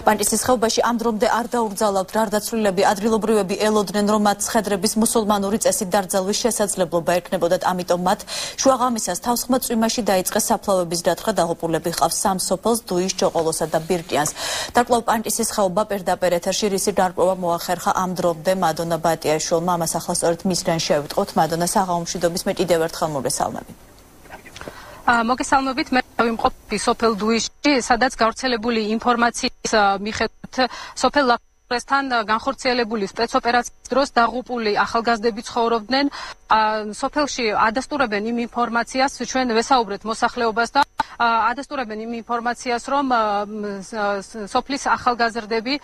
პანტისის ხეობაში ამ დრომდე არ დაუგზავნებთ გარდაცვლილები, ადგილობრივები ელოდნენ, რომ მათ ცხედრების მუსულმანური წესით დարձალვის შესაძლებლობა ექნებოდათ, ამიტომ მათ შუაღამისას თავსხმა წვიმაში დაიწყეს საფლავების დათხრა, დაღუპულები ჰყავს 3 სოფელს, დუის, ჭოყოლოსა და ბირკიანს. დაკვლავ პანტისის ხეობა პირდაპირ ეთერში რისი გარკვევა მოახერხა ამ დრომდე მადონა ბატიაშვილმა, ამას ახლა სწორედ მისგან შევიტყოთ. მადონა, საღამომშვიდობის, მე კიდევ ერთხელ მოგესალმები. მოგესალმებით, მე ვიმყოფი სოფელ დუისში, სადაც გავრცელებული ინფორმაციის მიხედვით სოფელ ლაფრესთან განხორციელებული სპეცოპერაციის დროს დაღუპული ახალგაზრდები ცხოვრობდნენ. სოფელში ადასტურებენ იმ ინფორმაციას, ჩვენ ვესაუბრეთ მოსახლეობას და ადასტურებენ იმ ინფორმაციას, რომ სოფლის ახალგაზრდები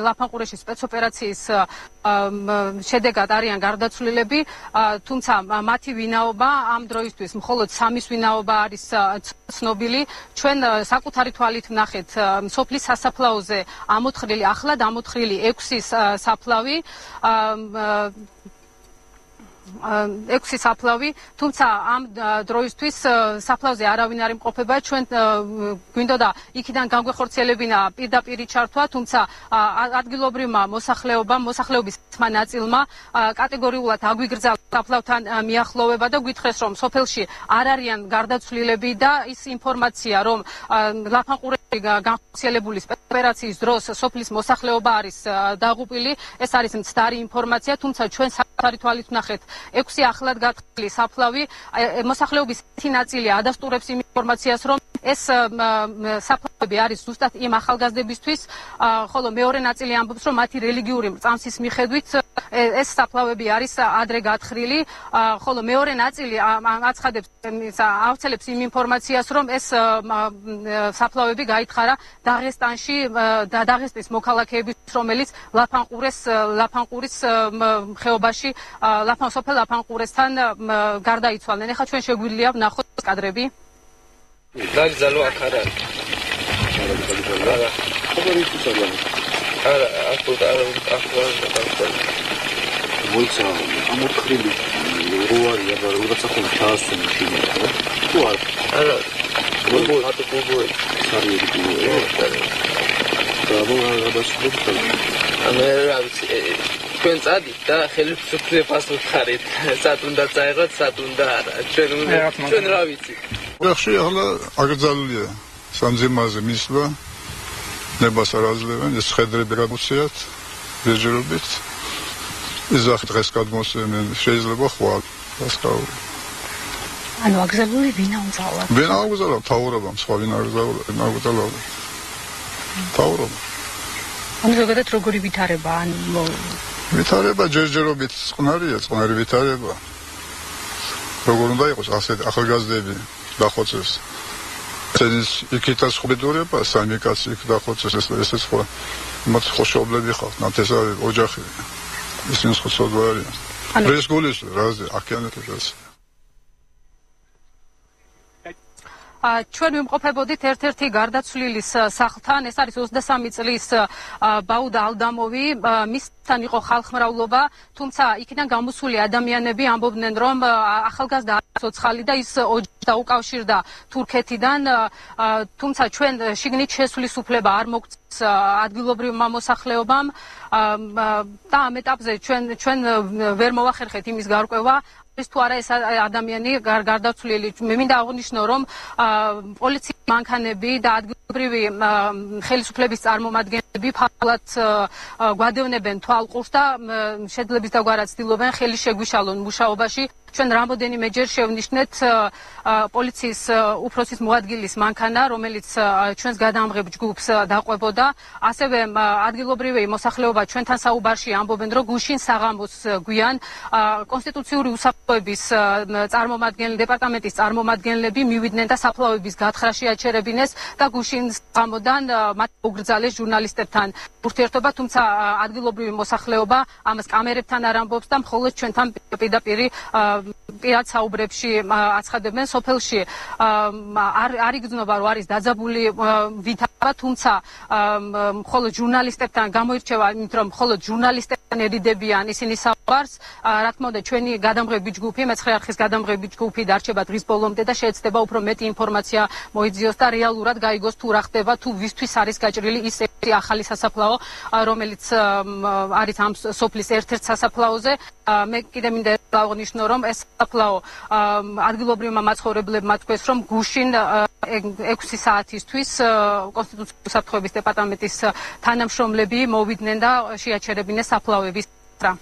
ლაფანყურეში სპეცოპერაციის შედეგად არიან გარდაცვლილები, თუმცა მათი ვინაობა ამ დროისთვის მხოლოდ 3-ის ვინაობა არის ცნობილი. ჩვენ საკუთარი თვალით ვნახეთ სოფლის სასაფლაოზე ამოთხრილი, ახლად ამოთხრილი 6 საფლავი, 6 საფლავი, თუმცა ამ დროისთვის საფლავზე არავინ არ იმყოფება. ჩვენ გვინდოდა იქიდან განგვეხორციელებინა პირდაპირი ჩართვა, თუმცა ადგილობრივმა მოსახლეობის ნაწილმა კატეგორიულად აგვიგრძალა საფლავთან მიახლოვება და გვითხრეს, რომ სოფელში არ არიან გარდაცვლილები და ის ინფორმაცია, რომ ლაფანყურეში განხორციელებული სპეცოპერაციის დროს სოფლის მოსახლეობა არის დაღუპილი, ეს არის მცდარი ინფორმაცია, თუმცა ჩვენ საკუთარი თვალით ვნახეთ 6 ახლად გათხრილი საფლავი. მოსახლეობის ერთი ნაწილი ადასტურებს იმ ინფორმაციას, რომ ეს საფლავები არის ზუსტად იმ ახალგაზრდებისთვის, ხოლო მეორე ნაწილი ამბობს, რომ მათი რელიგიური მრწამსის მიხედვით ეს საფლავები არის ადრე გათხრილი, ხოლო მეორე ნაწილი ავრცელებს იმ ინფორმაციას, რომ ეს საფლავები გაითხარა დაღესტანში და დაღესტნის მოქალაქეების, რომელიც ლაფანყურის ხეობაში სოფელ ლაფანყურესთან გარდაიცვალნენ. ეხლა ჩვენ შეგვიძლია ვნახოთ კადრები. დაგზალო აქ არ არის. მოიცა ამოთხრილი როარია და რაღაცა ხომ ჩაასვენა შეგიძლია. თუ არა. გოგო სარიები გიგო. და მოგაბაშოთ. მე რა ვიცი. ჩვენ წადით და ხელისუფლებას ვხარით. სად უნდა წაიღოთ, სად უნდა არა. ჩვენ რა ვიცი. ახში ახლა აკრძალულია სამძიმაზე მისვლა. ნებას არ აძლევენ, ეს ხედრები გადმოსიათ ბეჯერობით. იზახი დღეს გადმოსვენენ, შეიძლება ხვალ დასკაული. ანუ აკრძალული ვინ აუძალა? ვინ აუძალა? თავრობამ, სხვა ვინ აუძალა? თავრობა. ანუ ზოგადად როგორი ვითარება? ანუ ვითარება ჯერჯერობით წყნარი ვითარება. როგორ უნდა იყოს ასეთ ახალგაზრდები დახოცეს. წენის იქითაც ხვიდურება, 3 კაცი იქ დახოცეს, ესეც ხო მათ ხოშობლები ხალხ, ნათესავი ოჯახი. ისინი ხოცობ არიან. ეს გულის რაზე აქიანეთებს. ჩვენ ვიმყოფებოდით ერთ-ერთი გარდაცვლილის სახლთან, ეს არის 23 წლის ბაუდა ალდამოვი, მისთან იყო ხალხმრავლობა, თუმცა იქიდან გამოსული ადამიანები ამბობდნენ, რომ ახალგაზრდა არის ცოცხალი და ის ოჯახს დაუკავშირდა თურქეთიდან, თუმცა ჩვენ შიგნით შესვლის უფლება არ მოგწეს ადგილობრივმა მოსახლეობამ და ამ ეტაპზე ჩვენ ვერ მოვახერხეთ იმის გარკვევა, ის თუ არა ეს ადამიანი გარდაცვლილი. მე მინდა აღვნიშნო, რომ პოლიციის მანქანები და ადგილობრივი ხელისუფლების წარმომადგენლები ფართულად გვადევნებენ თვალყურს და შეძლების დაგვარად ცდილობენ ხელი შეგვიშალონ მუშაობაში. ჩვენ რამოდენიმეჯერ შევნიშნეთ პოლიციის უფროსის მოადგილის მანქანა, რომელიც ჩვენს გადამღებ ჯგუფს დაყვებოდა. ასევე ადგილობრივი მოსახლეობა ჩვენთან საუბარში ამბობენ, რომ გუშინ საღამოს გვიან კონსტიტუციური უსაფრთხოების დეპარტამენტის წარმომადგენლები მივიდნენ და საფლავების გათხრაში აჩერებინეს და გუშინ საღამოდან მათ უგრძალეს ჟურნალისტებთან ურთიერთობა, თუმცა ადგილობრივი მოსახლეობა ამას კამერებთან არ ამბობს და მხოლოდ ჩვენთან პირდაპირი პირად საუბრებში აცხადებენ სოფელში არ იგრძნობა რომ არის დაძაბული ვითარა, თუმცა მხოლოდ ჟურნალისტებთან გამოირჩევა იმით რომ მხოლოდ ჟურნალისტებთან ერიდებიან ისინი საუბარს. რა თქმა უნდა ჩვენი გადამღები ჯგუფი, მეცხრე არხის გადამღები ჯგუფი დარჩება დღის ბოლომდე და შეეცდება უფრო მეტი ინფორმაცია მოიძიოს და რეალურად გაიგოს თუ რა ხდება, თუ ვისთვის არის გაჭრილი ის ახალი სასაფლაო, რომელიც არის ამ სოფლის ერთ-ერთ სასაფლაოზე. მე კიდე მინდა აღნიშნო რომ ეს სასაფლაო ადგილობრივმა მაცხოვრებლებმა თქვეს რომ გუშინ 6 საათისთვის კონსტიტუციური საფრთხეების დეპარტამენტის თანამშრომლები მოვიდნენ და შეაჩერებინეს საფლავების რა.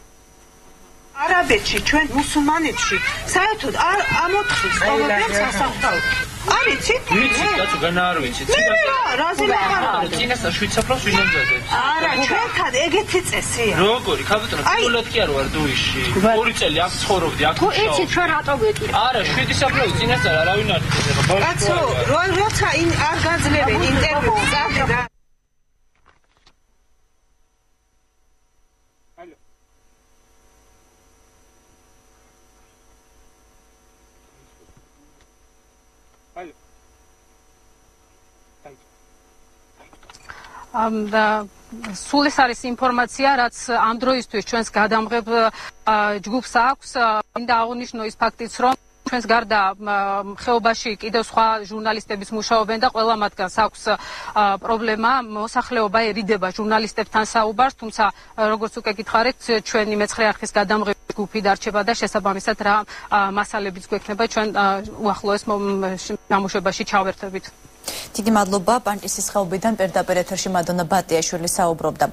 არაბეთში ჩვენ მუსულმანეთში საერთოდ არ ამოთხრის ყოველდღე სასაფლაო. არიცით? ვიცი, კაცო, განა არ ვიცი. რაზე მაღარა? წინასწარ შვიდსაფლავს ვინ ამზადებს? არა, ჩვენთან ეგეთი წესია. როგორი? ქაბატონო, პირველად კი არ ვარ დუიში. 2 წელი აქ ცხოვრობდი, აქ ვშავ. იცი ჩვენ რატო ვეტყვი? არა, 7 საფლავი წინასწარ არავინ არ იცოდა. კაცო, როცა არ გაძლევენ ინტერვიუს, წავდი რა. სულ ეს არის ინფორმაცია, რაც ამ დროისთვის ჩვენს გადამღებ ჯგუფს აქვს. მინდა აღნიშნო ის ფაქტიც, რომ ჩვენს გარდა ხეობაში კიდევ სხვა ჟურნალისტების მუშაობენ და ყველა მათგანს აქვს პრობლემა. მოსახლეობა ერიდება ჟურნალისტებთან საუბარს, თუმცა როგორც უკვე გითხარით, ჩვენი მეცხრე არხის გადამღები ჯგუფი დარჩება და შესაბამისად რა მასალებიც გვექნება ჩვენ უახლოეს გამოშვებაში ჩავერთებით. დიდი მადლობა პანკისის ხეობიდან პირდაპირ ეთერში მადონა ბატიაშვილი საუბრობდა.